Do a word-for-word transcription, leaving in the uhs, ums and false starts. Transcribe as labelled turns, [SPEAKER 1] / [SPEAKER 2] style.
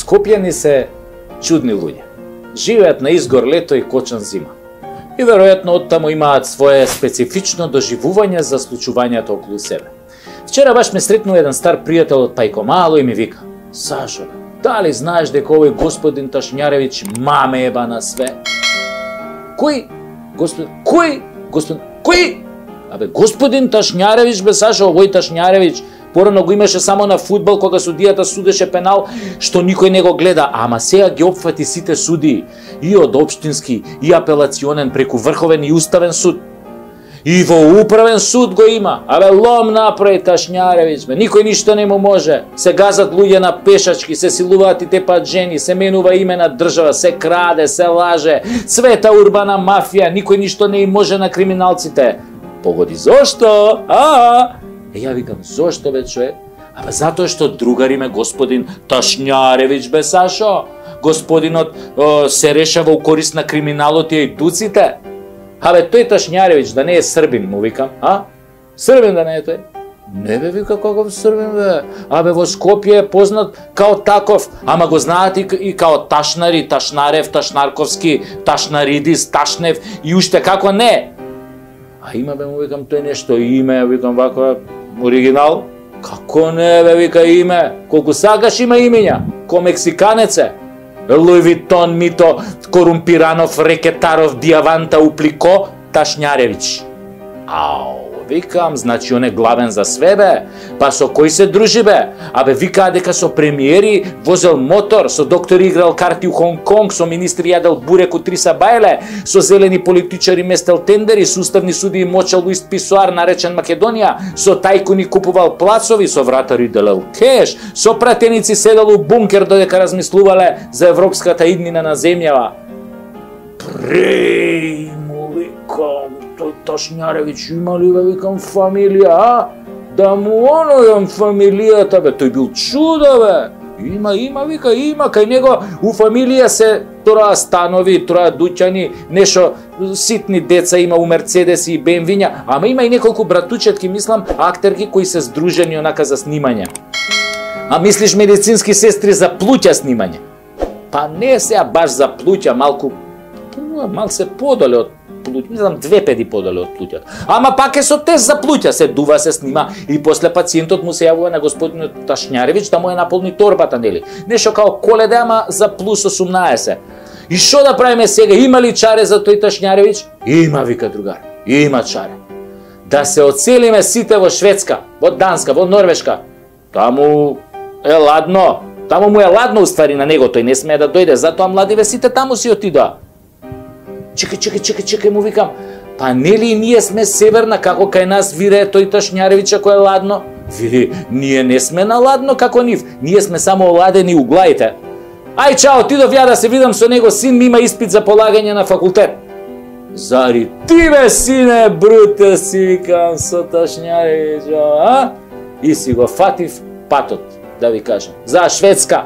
[SPEAKER 1] Скопјани се чудни луѓе. Живеат на изгор лето и кочан зима. И веројатно оттаму имаат свое специфично доживување за случувањата околу себе. Вчера баш ме сретнал еден стар пријател од Пајко Мало и ми вика: Сашо, дали знаеш дека овој господин Ташњаревиќ маме еба на све? Кој? Господин, кој? Господин, кој? Абе, господин Ташњаревиќ, бе, Сашо, овој Ташњаревиќ, порано го имаше само на фудбал кога судијата судеше пенал, што никој не го гледа, ама сега ги опфати сите судии, и од општински, и апелационен, преку Врховен и Уставен суд. И во Управен суд го има. Абе, лом направи Ташњаревиќ, бе, никој ништо не му може. Се газат луѓе на пешачки, се силуваат и тепат жени, се менува име на држава, се краде, се лаже, цвета урбана мафија, никој ништо не им може на криминалците. Погоди, зошто? А? Е, ја викам, зошто, бе, човек? Абе, затоа што другари ме господин Ташњаревиќ, бе, Сашо. Господинот о, се решава у корист на криминалот и ејдуците. Абе, тој Ташњаревиќ да не е србин, му викам, а? Србин да не е тој? Не, бе, вика, каков србин, бе? Абе, во Скопје е познат као таков, ама го знаат и, и као Ташнари, Ташнарев, Ташнарковски, Ташнаридис, Ташнев и уште како не. А има, бе, му викам, тој нешто име, викам, вако оригинал. Како не, бе, вика, име? Колку сакаш има имења, ко мексиканец е. Луј Витон, Мито, Корумпиранов, Рекетаров, Диаванта, Уплико, Ташњаревиќ. Ау, викам, значи он е главен за све, бе. Па со кој се дружи, бе? Абе, викаа дека со премиери возел мотор, со доктори играл карти у Хонг-Конг, со министри јадел бурек у Триса Бајле, со зелени политичари местел тендери, со уставни судии мочал у ист писоар наречен Македонија, со тајкуни купувал плацови, со вратари делел кеш, со пратеници седел у бункер додека размислувале за европската иднина на земјава. Преј, му викам, тој Ташњаревиќ има ли, бе, викам, фамилија, а? Да му онојам фамилијата, бе, тој бил чудо, бе. Има, има, вика, има, кај него у фамилија се троа станови, троа дуќани, нешто ситни деца има у Мерцедеси и Бемвиња, ама има и неколку братучетки, мислам, актерки кои се здружени онака за снимање. А мислиш медицински сестри за плуќа снимање? Па не сега баш за плуќа, малку, мал се подоле од плуќа, мислам две педи подоле од плуќата. Ама пак е со тест за плуќа, се дува, се снима и после пациентот му се јавува на господинот Ташњаревиќ да му е наполни торбата, нели? Нешто као Коледа, ама за плюс осумнаесет. И што да правиме сега? Има ли чаре за тој Ташњаревиќ? Има, вика другар. Има чаре. Да се оцелиме сите во Шведска, во Данска, во Норвешка. Таму е ладно. Таму му е ладно уствари на него, тој не смее да дојде, затоа младиве сите таму си отидоа. Чекај, чекај, чекај, чекај, му викам. Па нели ние сме северна, како кај нас вирее тој Ташњаревиќ ако е ладно? Вели, ние не сме на ладно како нив, ние сме само оладени у глаите. Ај, чао, отидов ја да се видам со него, син ми има испит за полагање на факултет. Зари ти, бе, сине, бруте, си викам со Ташњаревиќ, а? И си го фатив патот, да ви кажам, за Шведска.